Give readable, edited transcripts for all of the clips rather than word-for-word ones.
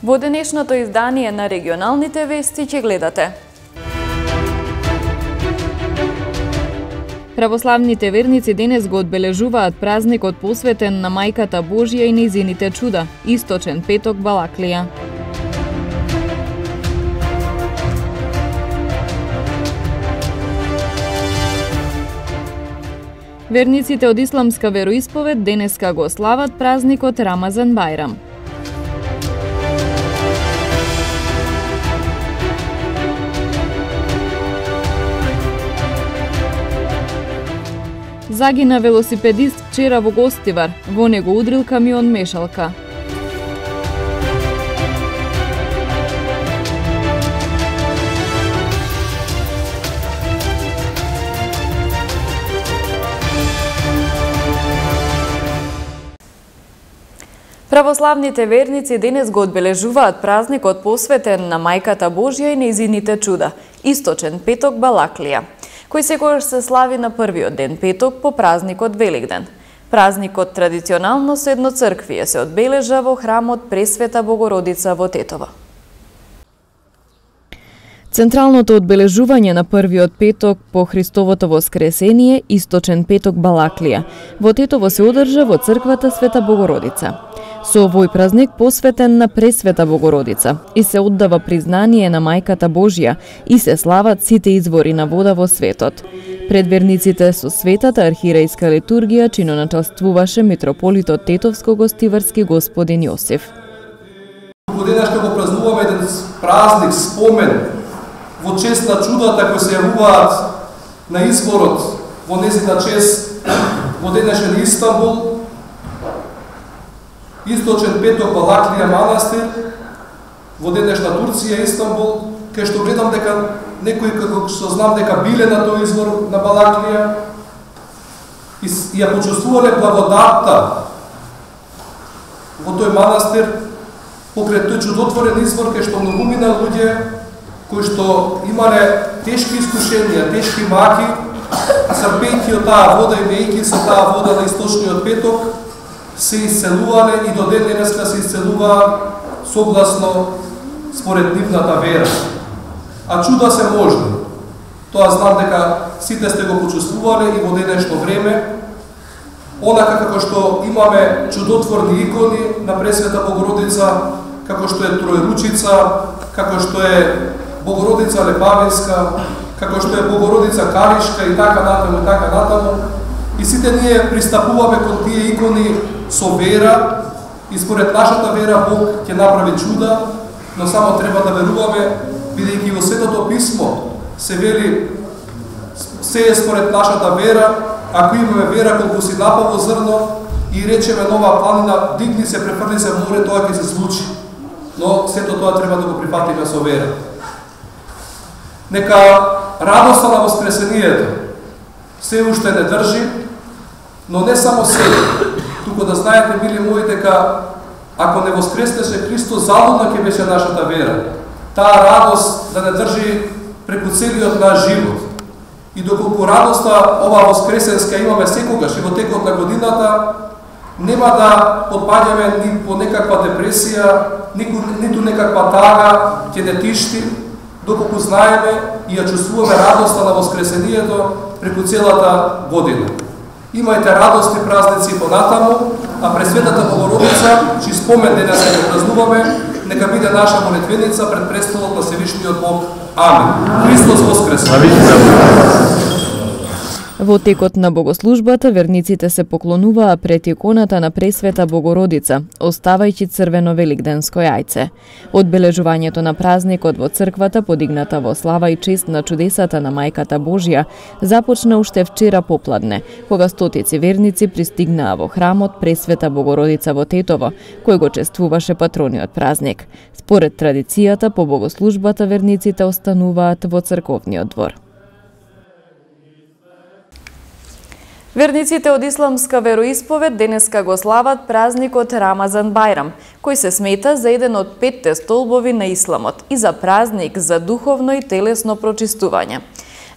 Во денешното издание на регионалните вести ќе гледате. Православните верници денес го одбележуваат празникот посветен на Мајката Божја и нејзините чуда, Источен петок Балаклија. Верниците од исламска вероисповед денеска го слават празникот Рамазан Бајрам. Загина велосипедист вчера во Гостивар, во него удрил камион мешалка. Православните верници денес го одбележуваат празникот посветен на Мајката Божја и нејзините чуда, Источен петок Балаклија, кој секогаш се слави на првиот ден петок по празникот Великден. Празникот традиционално со едноцрквие се одбележа во храмот Пресвета Богородица во Тетово. Централното одбележување на првиот петок по Христовото воскресение, Источен петок Балаклија, во Тетово се одржа во црквата Света Богородица. Со овој празник посветен на Пресвета Богородица и се оддава признание на Мајката Божја и се слават сите извори на вода во светот. Пред верниците со светата архиерејска литургија чиноначествуваше митрополитот Тетовско-Гостиварски господин Јосиф. Денес ќе го празнуваме еден празник, спомен во чест на чудата кои се јавуваат на изворот во незина чест во денешен Истанбул, Источен петок Балаклија манастир, во денешна Турција, Истанбул, кај што гледам дека некои како што знам дека биле на тој извор на Балаклија и ја почувствувале благодатта во тој манастир покрај тој чудотворен извор кај што многумина луѓе кои што имале тешки искушенија, тешки маки, црпејќи од таа вода и мејќи со таа вода на Источниот петок, се исцелувале и до ден денеска се исцелуваат согласно според нивната вера. А чуда се можни. Тоа знам дека сите сте го почувствувале и во денешно време. Онака како што имаме чудотворни икони на Пресвета Богородица, како што е Троеручица, како што е Богородица Лепавинска, како што е Богородица Каришка и така натаму. И сите ние пристапуваме кон тие икони со вера и според нашата вера Бог ќе направи чуда, но само треба да веруваме, бидејќи во Светото писмо се вели се е според нашата вера, ако имаме вера колку си напаво зрно и речеме нова планина, дигни се, префрли се море, тоа ќе се случи. Но сето тоа треба да го прифатиме со вера. Нека радоста на воскресението се уште не држи, но не само себе, туку да знаете, мили мои, дека ако не воскреснеше Христос, залудна ќе беше нашата вера. Таа радост да не држи преку целиот наш живот. И доколку радоста ова воскресенска имаме секогаш и во текот на годината, нема да подпаѓаме ни по некаква депресија, ниту некаква тага ќе не тишти, доколку знаеме и ја чувствуваме радоста на воскресението преку целата година. Имајте радост и празници понатаму, а Пресветата Богородица, чиј спомен денес ќе празнуваме, нека биде наша молитвеница пред престолот на Севишниот Бог. Амин. Христос воскресе! Во текот на богослужбата верниците се поклонуваа пред иконата на Пресвета Богородица, оставајќи црвено великденско јајце. Одбележувањето на празникот во црквата, подигната во слава и чест на чудесата на Мајката Божја, започна уште вчера попладне, кога стотици верници пристигнаа во храмот Пресвета Богородица во Тетово, кој го чествуваше патрониот празник. Според традицијата, по богослужбата верниците остануваат во црковниот двор. Верниците од исламска вероисповед денеска го слават празникот Рамазан Бајрам, кој се смета за еден од 5 столбови на исламот и за празник за духовно и телесно прочистување.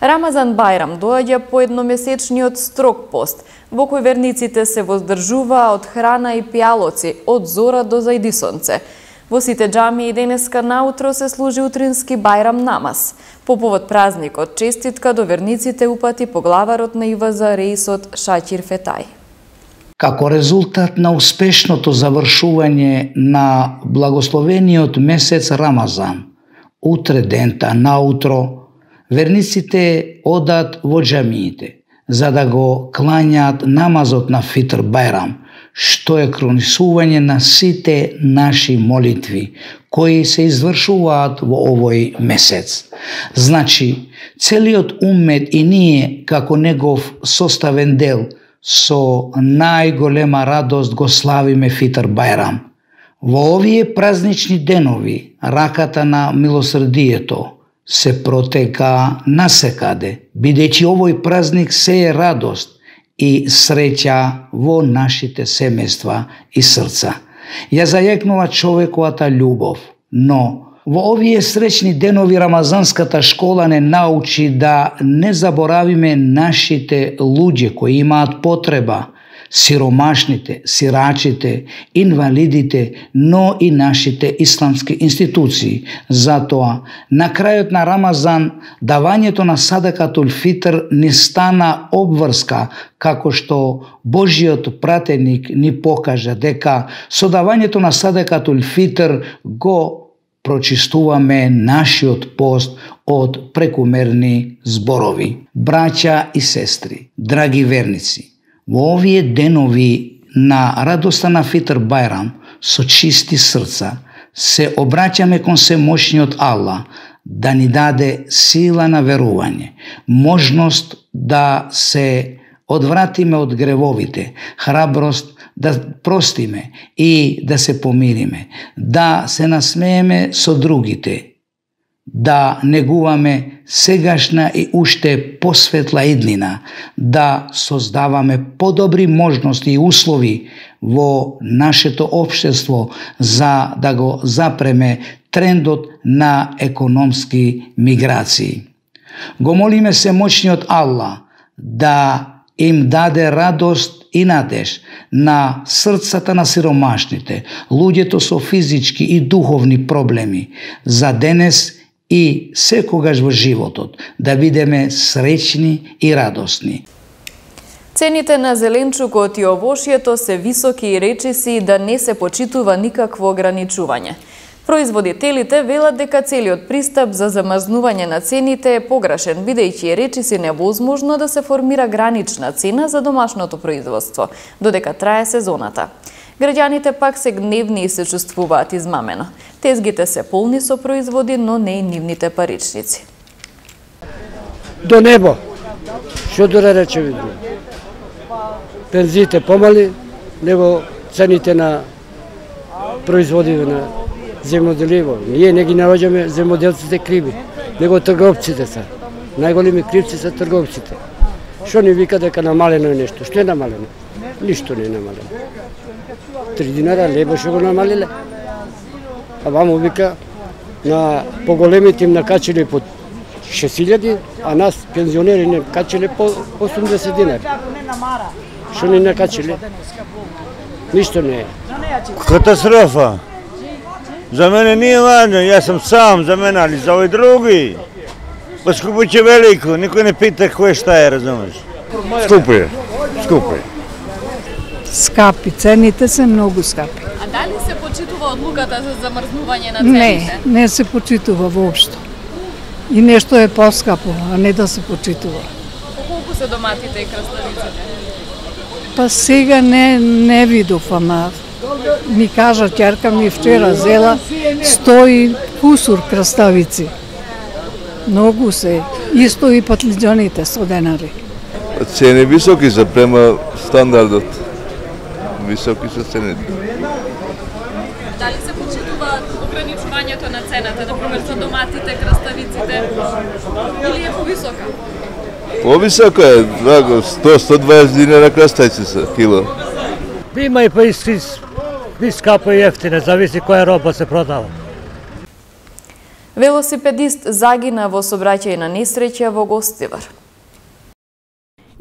Рамазан Бајрам доаѓа по едномесечниот строг пост, во кој верниците се воздржуваа од храна и пијалоци од зора до зајди сонце. Во сите џамии денеска наутро се служи утрински бајрам намаз. По повод празникот, честитка до верниците упати поглаварот на ИВЗ Реисот Шакир Фетај. Како резултат на успешното завршување на благословениот месец Рамазан, утре дента наутро, верниците одат во џамиите, за да го клањаат намазот на Фитр Бајрам, што е кронисување на сите наши молитви, кои се извршуваат во овој месец. Значи, целиот умет и ние, како негов составен дел, со најголема радост го славиме Фитр Бајрам. Во овие празнични денови, раката на милосрдието се протека насекаде, бидејќи овој празник се е радост и среќа во нашите семејства и срца. Ја зајакнува човековата љубов, но во овие среќни денови рамазанската школа не научи да не заборавиме нашите луѓе кои имаат потреба, сиромашните, сирачите, инвалидите, но и нашите исламски институции. Затоа, на крајот на Рамазан, давањето на садакатул фитр ни стана обврска, како што Божиот пратеник ни покажа дека со давањето на садакатул фитр го прочистуваме нашиот пост од прекумерни зборови. Браќа и сестри, драги верници, во овие денови на радоста на Фитр Бајрам, со чисти срца, се обраќаме кон семоќниот Аллах да ни даде сила на верување, можност да се одвратиме од гревовите, храброст да простиме и да се помириме, да се насмееме со другите, да негуваме сегашна и уште посветла иднина, да создаваме подобри можности и услови во нашето општество за да го запреме трендот на економски миграции. Го молиме семоќниот Аллах да им даде радост и надеж на срцата на сиромашните, луѓето со физички и духовни проблеми, за денес и секогаш во животот, да бидеме среќни и радосни. Цените на зеленчукот и овошјето се високи и речиси да не се почитува никакво ограничување. Производителите велат дека целиот пристап за замрзнување на цените е погрешен, бидејќи е речиси невозможно да се формира гранична цена за домашното производство, додека трае сезоната. Граѓаните пак се гневни и се чувствуваат измамено. Тезгите се полни со производи, но не и нивните паричници. До небо, што да речеме. Пензиите помали, него цените на производи на земјоделиво. Ние не ги наоѓаме земјоделците криви, него трговците се. Најголеми кривци се трговците. Што ни вика дека намалено е нешто? Што е намалено? Ништо не е намалено. 3 динара лебо што го намалиле. А ваму вика на поголемите им накачиле по 6000, а нас пензионери не качиле по 80 динари. Што ни накачиле? Ништо не е. Катастрофа. За мене nije važno, ja sam sam za mene, ali za ove drugi. Поскупиće veliko, niko ne pita ko je šta je, razumeš? Skupo je, skupo je. Скапи, цените се многу скапи. А дали се почитува одлуката за замрзнување на цените? Не се почитува воопшто. И нешто е поскапо, а не да се почитува. Колку се доматите и краставиците? Па сега не видов, ама ми кажа ќерка ми вчера зела 100 кусур краставици. Многу се. Исто и патлиџаните 100 денари. Цени високи се према стандардот. Високи се цените. Дали се почитува ограничувањето на цената, например за доматите, краставиците, или е повисока? Повисока е, 100-120 динара краставици се кило. Има и скапо и ефтине, зависи која роба се продава. Велосипедист загина во сообраќајна на несреќа во Гостивар.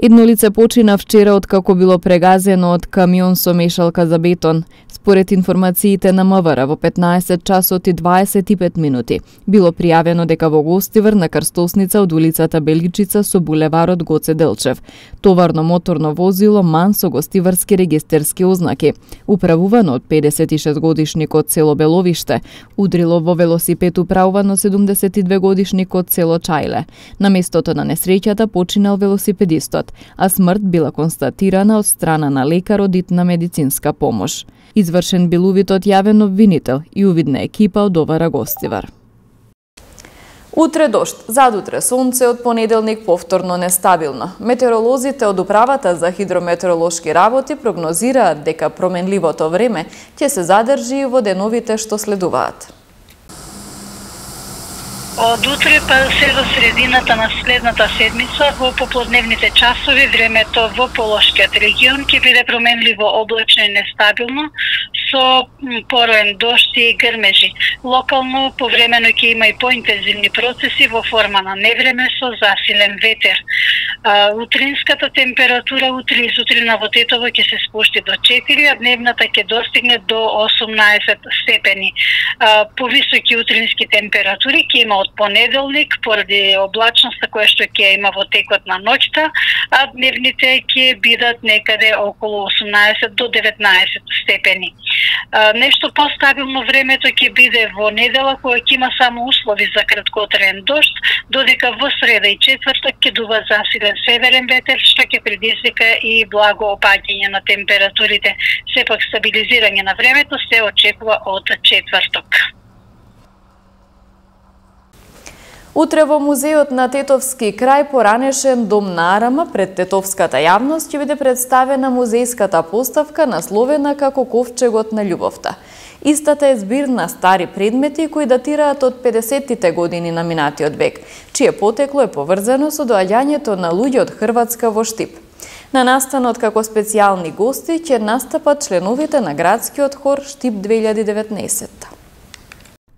Едно лице почина вчера откако било прегазено од камион со мешалка за бетон. Според Според информациите на МВР во 15 часот и 25 минути било пријавено дека во Гостивар на крстосница од улицата Беличица со булеварот Гоце Делчев товарно моторно возило МАН со гостиварски регистерски ознаки, управувано од 56 годишник од село Беловиште, удрило во велосипед управувано 72 годишник од село Чајле. На местото на несреќата починал велосипедистот, а смрт била констатирана од страна на лекар од итна медицинска помош. Извршен бил увид од јавен обвинител и увидна екипа од ОВР Гостивар. Утре дожд, задутре сонце, од понеделник повторно нестабилно. Метеоролозите од Управата за хидрометеоролошки работи прогнозираат дека променливото време ќе се задржи во деновите што следуваат. Од утре па се до средината на следната седмица во поплодневните часови времето во Полошкиот регион ќе биде променливо облачно и нестабилно со пороен дожд и грмежи. Локално повремено ќе има и поинтензивни процеси во форма на невреме со засилен ветер. Утринската температура утре и сутрина во Тетово ќе се спушти до 4, а дневната ќе достигне до 18 степени. Повисоки утрински температури ќе има од понеделник поради облачноста која што ќе има во текот на ноќта, а дневните ќе бидат некаде околу 18 до 19 степени. Нешто постабилно времето ќе биде во недела која ќе има само услови за краткотраен дожд, додека во среда и четврток ќе дува засилен северен ветер што ќе предизвика и благо опаѓање на температурите. Сепак стабилизирање на времето се очекува од четврток. Утре во музеот на Тетовски крај поранешен Дом на Арама пред тетовската јавност ќе биде представена музејската поставка насловена како Ковчегот на љубовта. Истата е збир на стари предмети кои датираат од 50-тите години на минатиот век, чие потекло е поврзано со доаѓањето на луѓе од Хрватска во Штип. На настанот како специјални гости ќе настапат членовите на градскиот хор Штип 2019.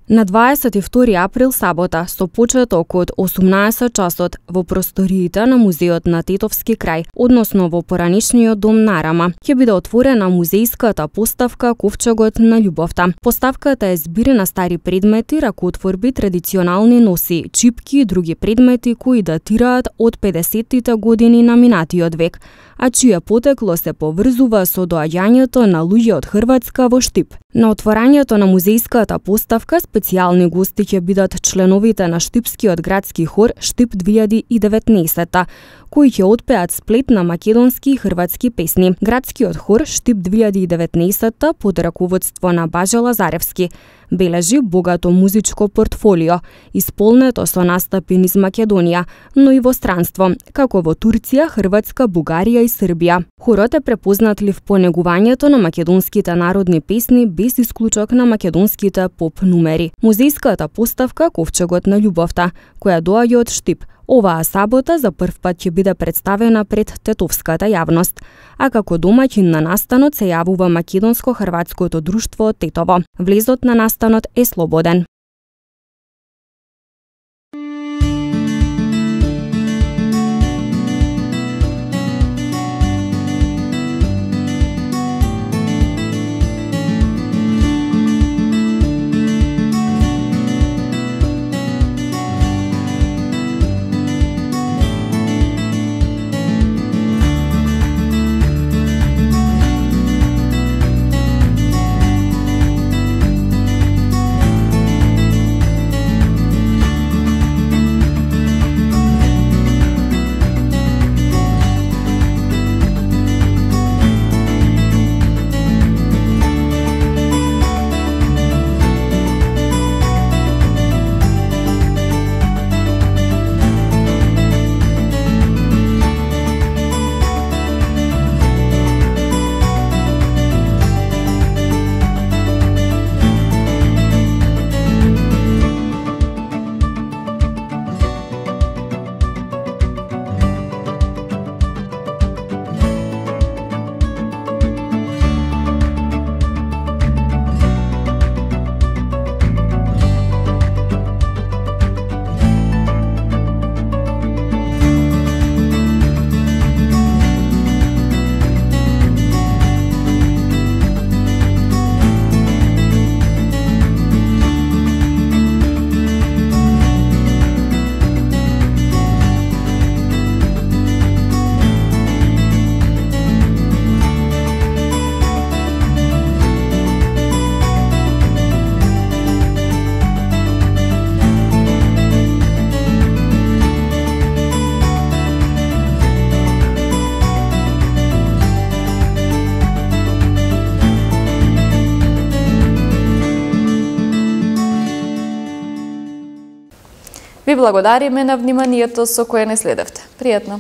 На 22 април сабота со почеток од 18 часот во просториите на музеот на Тетовски крај, односно во поранешниот Дом на Арама, ќе биде отворена музејската поставка Ковчегот на љубовта. Поставката е збир на стари предмети, ракотворби, традиционални носи, чипки и други предмети кои датираат од 50-тите години на минатиот век, а чие потекло се поврзува со доаѓањето на луѓе од Хрватска во Штип. На отворањето на музејската поставка специјални гости ќе бидат членовите на Штипскиот градски хор Штип 2019, кои ќе отпеат сплет на македонски и хрватски песни. Градскиот хор Штип 2019 под раководство на Баже Лазаревски бележи богато музичко портфолио, исполнето со настапи низ Македонија, но и во странство, како во Турција, Хрватска, Бугарија и Србија. Хорот е препознатлив по негувањето на македонските народни песни без исклучок на македонските поп нумери. Музејската поставка Ковчегот на љубовта, која доаѓа од Штип, оваа сабота за прв пат ќе биде представена пред тетовската јавност, а како домаќин на настанот се јавува Македонско-хрватското друштво Тетово. Влезот на настанот е слободен. Ви благодариме на вниманието со кое не следевте. Пријатно!